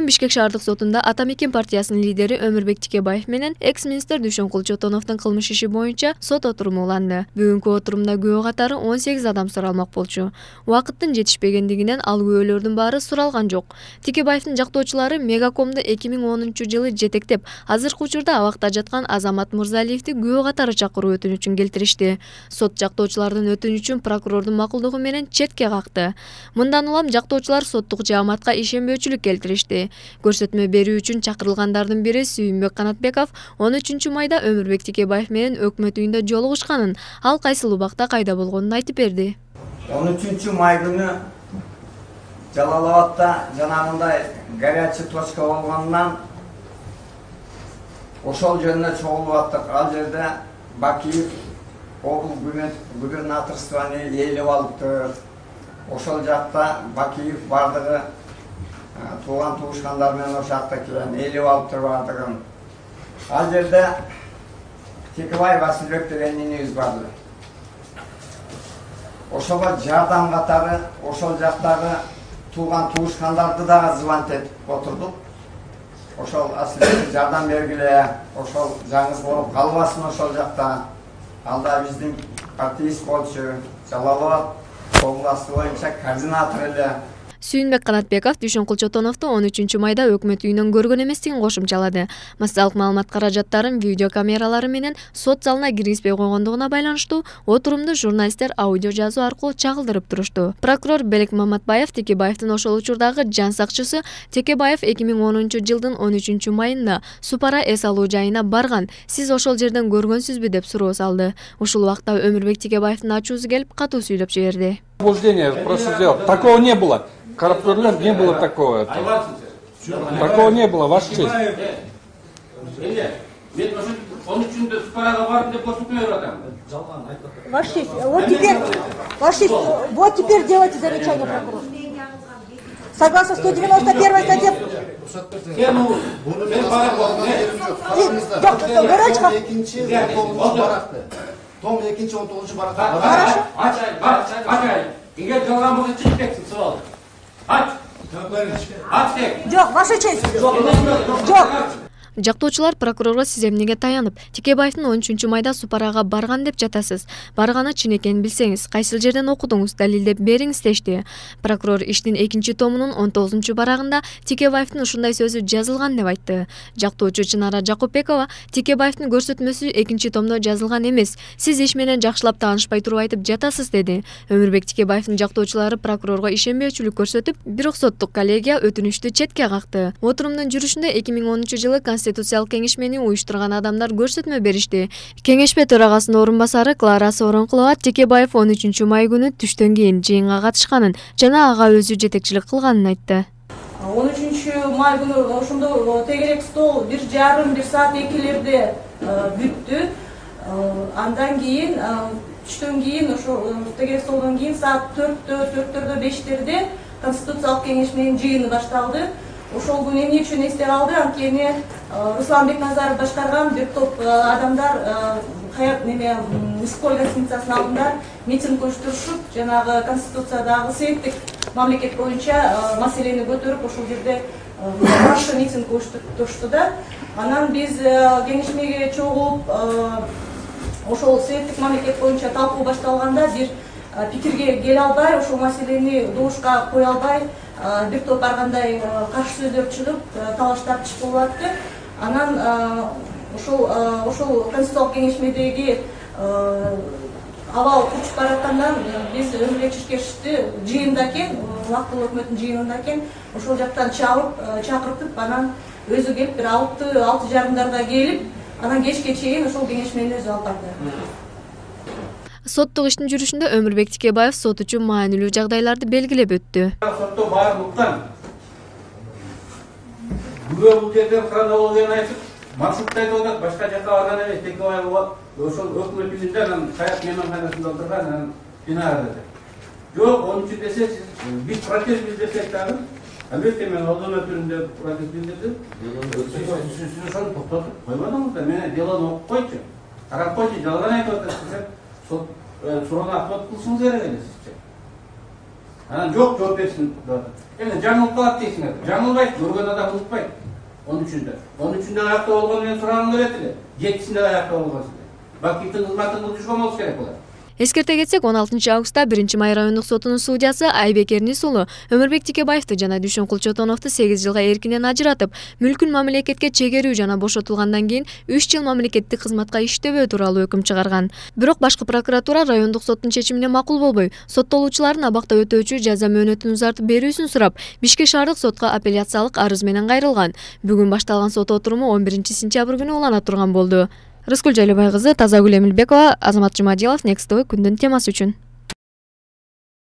Бүгүн Бишкек шаардык сотунда Атамекен партиясынын лидери Өмүрбек Тикебаев менен экс-министр Дүйшөнкул Чотоновдун кылмыш иши боюнча сот отуруму уланды. Бүгүнкү отурумда күбө катары 18 адам суралмак болчу. Убакыттын жетишпегендигинен ал күбөлөрдүн баары суралган жок. Тикебаевдин жактоочулары Мегакомду 2010-жылы жетектеп, азыркы учурда абакта жаткан Азамат Мырзалиевди күбө катары чакыруу өтүнүчүн келтиришти. Сот жактоочулардын өтүнүчүн прокурордун макулдугу менен четке какты. Мындан улам жактоочулар соттук жааматка ишенбөөчүлүк келтиришти. Көрсөтмө берүү үчүн чакырылгандардын бири Сүйүнбек Канатбеков 13 майда Өмүрбек Тикебаев менен өкмөт үйүндө жолугушканын, ал кайсыл убакта кайда болгонун айтып берди. 13 май күнү Жалал-Абадта жанагындай горячий точка болгондон ошол жерине чогулуп аттык. Ал жерде Бакиев облус губернаторствону ээлеп алыптыр. Ошол жакта Бакиев бардыгы тууган туушкандар менен ошол жакта келген ээлеп алыптыр бардыгын. Ал жерде Тикебаев Асылбек деген инибиз барды. Ошого жардам катары ошол жактагы тууган туушкандарды дагы звонить этип отурдук. Ошол Асылбекке жардам бергиле, ошол жаңыз болуп калбасын ошол жакта. Ал да биздин партиист болчу, Жалал-Абад областы боюнча координатор эле. Сүйүнбек Канатбеков Дүйшөнкул Чотоновду 13 майда өкмөт үйүнөн көргөн эместигин кошумчалады. Массалык маалымат каражаттарын видео камералары менен сот залына киргизбей койгондугуна байланыштуу отурумду журналисттер аудио жазуу аркылуу чагылдырып турушту. Прокурор Белек Маматбаев Тикебаевдин ошол учурдагы жан сакчысы Тикебаев 2010-жылдын 13 майында Супара эс алуу жайына барган. Сиз ошол жерден көргөнсүзбү деп суроо салды. Ушул убакта Өмүрбек Тикебаевдин ачуусу келип катуу сүйлөп жиберди. Просто сделал. Такого не было. Коррупционер не было такого. Такого не было, ваша честь. Ваша честь, вот теперь делайте замечание, прокурор. Согласно 191 статье. Жоқ, ваша честь. Жоқ. Жактоочулар прокурорго сиз эмнеге таянып, Тикебаевдин 13 майда Супарага барган деп жатасыз. Барганы чын экенин билсеңиз, кайсыл жерден окудуңуз, далилдеп бериңиз дешти. Прокурор иштин 2-томунун 19-барагында Тикебаевдин ушундай сөзү жазылган деп айтты. Жактоочу Чынара Жакупбекова Тикебаевдин көрсөтмөсү 2-томдо жазылган эмес. Сиз иш менен жакшылап таанышпай туруп айтып жатасыз деди. Өмүрбек Тикебаевдин жактоочулары прокурорго ишенбөөчүлүк көрсөтүп, бирок соттук коллегия өтүнүштү четке какты. Отурумдун жүрүшүндө 2010-жылы Конституциялык кеңешмени уюштурган адамдар көрсөтмө беришти. Кеңешме төрагасынын орун басары Клара Сооронкулова Тикебаев 13 май күнү түштөн кийин жыйынга катышканын жана ага өзү жетекчилик кылганын айтты. 13 май күнү ошондо тегерек стол 1,5 саат экилерде бүттү. Андан кийин түштөн кийин ошо тегерек столдон кийин саат 4-4:00 5-терде Конституциялык кеңешменин жыйыны башталды. Ошол күнү эмне үчүн эсте калды? Анткени Руслан Бекназаров башкарган бир топ адамдар Исколь гостиницасынын алдында митинг уюштурушуп, жанагы Конституциядагы сеттик мамлекет боюнча маселени көтөрүп, ошол жерде каршы митинг уюштурушту да. Анан биз кеңешмеге чогулуп, ошол сеттик мамлекет боюнча талкуу башталганда бир пикирге келе албай, ошол маселени добушка кое албай, бир топ ар кандай каршы сөздөр чыгып, талаш тартыш болуп атты. Анан ошол Конституциялык кеңешмедеги абал курчуп бараткандан биз Өмүрбек Чиркешевди жыйында экен, убактылуу өкмөттүн жыйынында экен, ошол жактан чакыртып, анан өзү келип бир 6:30 келип, анан кечке чейин ошол кеңешмени өзү алып барды. Соттук иштин жүрүшүндө Өмүрбек Тикебаев сот үчүн маанилүү жагдайларды белгилеп өттү. Сотто баарын уктан. Күбө бул жерден хронологияны айтып, маршрутта айтып атат, башка жакка барган эмес. Тикебаев ошол өкмөт үйүндө, анан Саят мейманканасында отурган, анан бинада. Жок, onun için dese biz protest bildirsek dagы, албетте мен алдын өтүрүндө протест билдирдим. Сиз ошону токтотуп койбодуңуз да, мени делону окуп койчу. Карап койчу, жалган айтып атасыз десем, сот суроону ответ кылышыңыз керек эле сизче. Анан жок жооп берсин деп атат. Эми жаңылып калат дейсиңер. Жаңылбайт, көргөн адам унутпайт. 13-үндө аякта болгону менен сурагым келет эле. 7-синде аякта болгонсуз. Бакиевдин кызматын кылышкан болуш керек булар. Эскерте кетсек, 16 августта 1-Май райондук сотунун судьясы Айбек Эрнис уулу Өмүрбек Тикебаевди жана Дүйшөнкул Чотоновду 8 жылга эркинен ажыратып, мүлкүн мамлекетке чегерүү жана бошотулгандан кийин 3 жыл мамлекеттик кызматка иштебөө тууралуу өкүм чыгарган. Бирок башкы прокуратура райондук соттун чечимине макул болбой, соттолуучулардын абакта өтөөчү жаза мөөнөтүн узартып берүүсүн сурап, Бишкек шаардык сотко апелляциялык арыз менен кайрылган. Бүгүн башталган сот отуруму 11-сентябрь күнү улана турган болду. Рыскүл Жалебай кызы, Тазагүл Эмилбекова, Азамат Жумадилов, Next TV күндүн темасы үчүн.